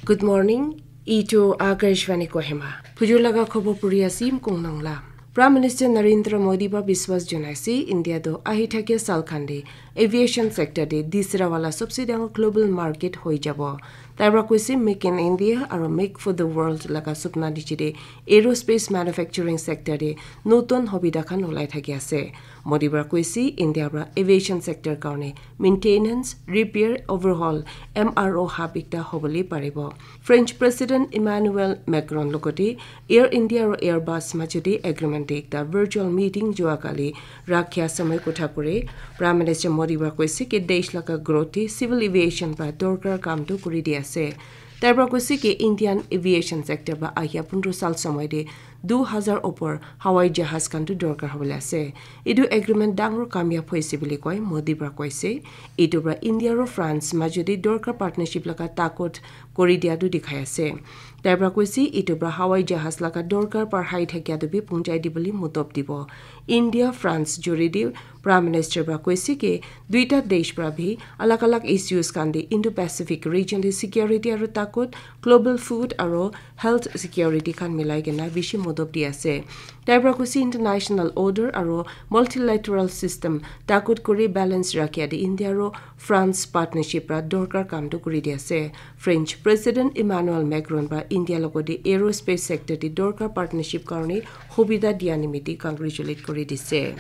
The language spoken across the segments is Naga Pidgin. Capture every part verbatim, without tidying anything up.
Good morning. Itu Akashvani Kohima. Phujur laga khobor puri asim kong nangla. Prime Minister Narendra Modi ba biswas jonaise India do ahi thakia sal khande aviation sector de disra wala sabse dangor global market hoi jabo. Tai pra koise Make in India aro Make for the World laga supna niche de aerospace manufacturing sector de notun hobida khan ulai thaki ase. Modi pra koise India pra aviation sector karne maintenance, repair, overhaul, M R O hub ekta hobole paribo. French President Emmanuel Macron logoti Air India aro Airbus majodi agreement ekta virtual meeting jua kali rakhia samay kotha kore. Prime Minister Modi pra koise ke desh laga growth te civil aviation pra dorkar kam tu kuri di ase. Tai pra koise ke Indian aviation sector ba ahia pundro sal samay de du hazar opor hawai jahaz khan tu dorkar hobole ase. Etu agreement dangor kamyab hoise bole koi Modi pra koise. Etu pra India aro France majodi dorkar partnership laga takot kori dia tu dikhai ase. Tai pra koise etu pra hawai jahaz laga dorkar par hai thakia tu bi punjai di bole motob dibo. India France jori di Prime Minister pra koise ke duita desh pra bi alag alag issues khan de Indo-Pacific region de security aro takot, global food aro health security khan milai kena bishi modob di ase. Tai pra koise international order aro multilateral system takot kuri balance rakhia de India aro France partnership pra dorkar kam tu kuri di ase. French President Emmanuel Macron pra India logoti aerospace sector de dorkar partnership karne hobida dia nimiti congratulate kuri dise.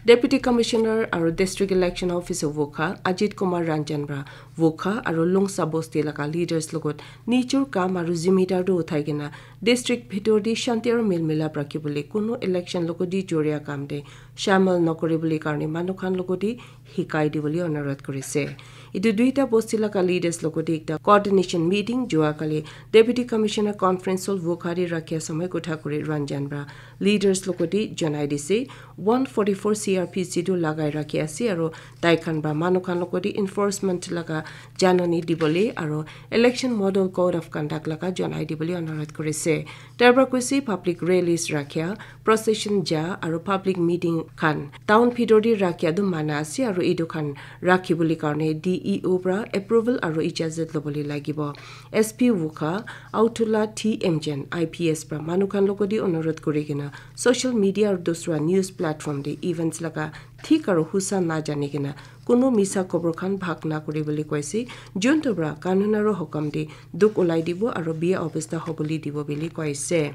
Deputy Commissioner aro District Election Officer Wokha Ajit Kumar Ranjan pra Wokha aro Longsa Bosti laga leaders logot nijor kam aro zimidar tu uthai kena district bhitor te shanti aro milmilap rakhibole kuno election logoti joria kam te shamil nokori bole karne manu khan logoti hikai di bole onurodh korise. Etu duita bosti laga leaders logoti ekta coordination meeting jua kali Deputy Commissioner Conference Hall Wokha te rakhia samay kotha kuri Ranjan pra leaders logoti janai dise. One forty-four C R P C tu lagai rakhi ase aro tai khan pra manu khan logoti enforcement laga janani dibole aro election model code of conduct laga janai dibole onurodh korise. Tai pra koise public rallies rakhia, procession ja aro public meeting khan town bhitor te rakhia tu mana ase aro etu khan rakhi bole karne D E O pra approval aro ijazat lobole lagibo. S P Wokha Autula T M Jen I P S pra manu khan logoti onurodh kuri kena social media aro dusra news platform te events laga thik aro husa na jani kena kuno misa khobor khan bhag na kuri bole koise. Juntu pra kanun aro hukam te duk ulai dibo aro biya obostha hobole dibo bole koise.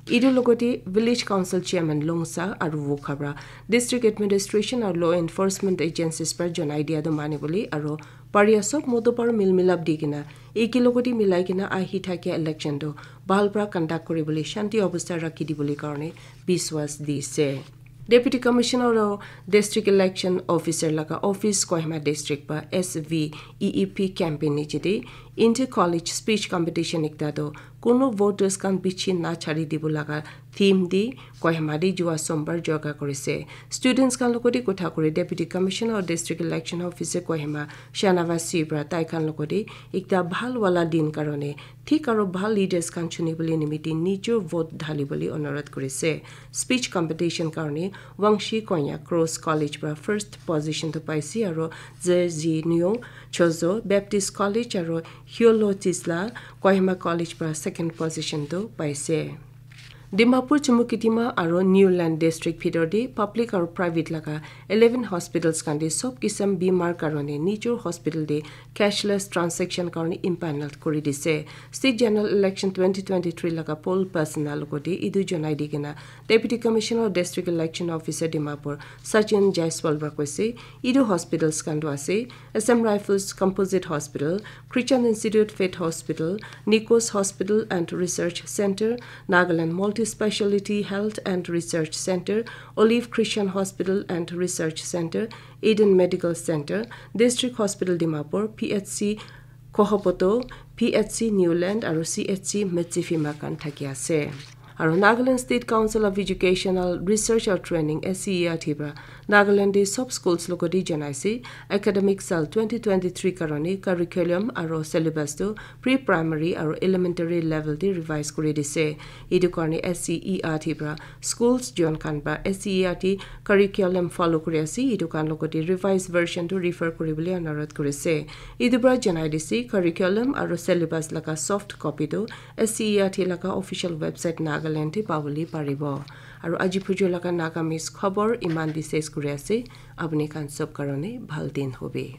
Etu logoti Village Council Chairman Longsa aro Wokha pra District Administration aro Law Enforcement Agencies pra janai dia tu mani bole aro paria sob moto par milmilap di kena eki logoti milai kena ahi thakia election tu bhal pra conduct kuri bole shanti obostha rakhi di bole karne biswas dise. Deputy Commissioner aro District Election Officer laga office Kohima District pra S V E E P campaign niche de inter college speech competition ekta tu kuno voters khan bichi na chari dibo laga theme de Kohima de jua sombar jorga korise. Students khan logoti kotha kuri Deputy Commissioner aro District Election Officer Kohima Shanavas Sibra tai khan logoti ekta bhal wala din karone thik aro bhal leaders khan chuni bole nimiti nijor vote dhali bole onurodh korise. Speech competition karone Wangshi Konya Cross College pra first position tu paise aro Ze Zi Nyo Chozo Baptist College aro Hyolo Tisla Kohima College pra second position tu paise. Dimapur, Chumukedima aro Niuland District bhitor te public aro private laga eleven hospitals khan te sob kisam bimar karone nijor hospital te cashless transaction karone impanel kuri dise. State General Election twenty twenty-three laga poll personnel logoti etu janai di kena Deputy Commissioner District Election Officer Dimapur Sachin Jaiswal pra koise etu hospitals khan tu ase Assam Rifles Composite Hospital, Christian Institute Faith Hospital, Nikos Hospital and Research Center, Nagaland Multi-Speciality Health and Research Center, Olive Christian Hospital and Research Center, Eden Medical Center, District Hospital Dimapur, P H C Kohopoto, P H C Niuland aro C H C Metsefima khan thaki ase. Aro Nagaland State Council of Educational Research and Training, S C E R T, pra Nagaland te sob schools logot te janai ase, academic sal twenty twenty-three karone curriculum aro syllabus tu pre-primary aro elementary level te revise kuri dise. Etu karone S C E R T pra schools jon khan pra S C E R T curriculum follow kuri ase, etu khan logot te revised version tu refer kuri bole anurodh kuri ase. Etu pra janai dise, curriculum aro syllabus laga soft copy tu S C E R T laga official website Nagaland te pabole paribo. Aro aji phujo laga Nagamese khobor iman te ses kuri ase. Apni khan sob karone bhal din hobe.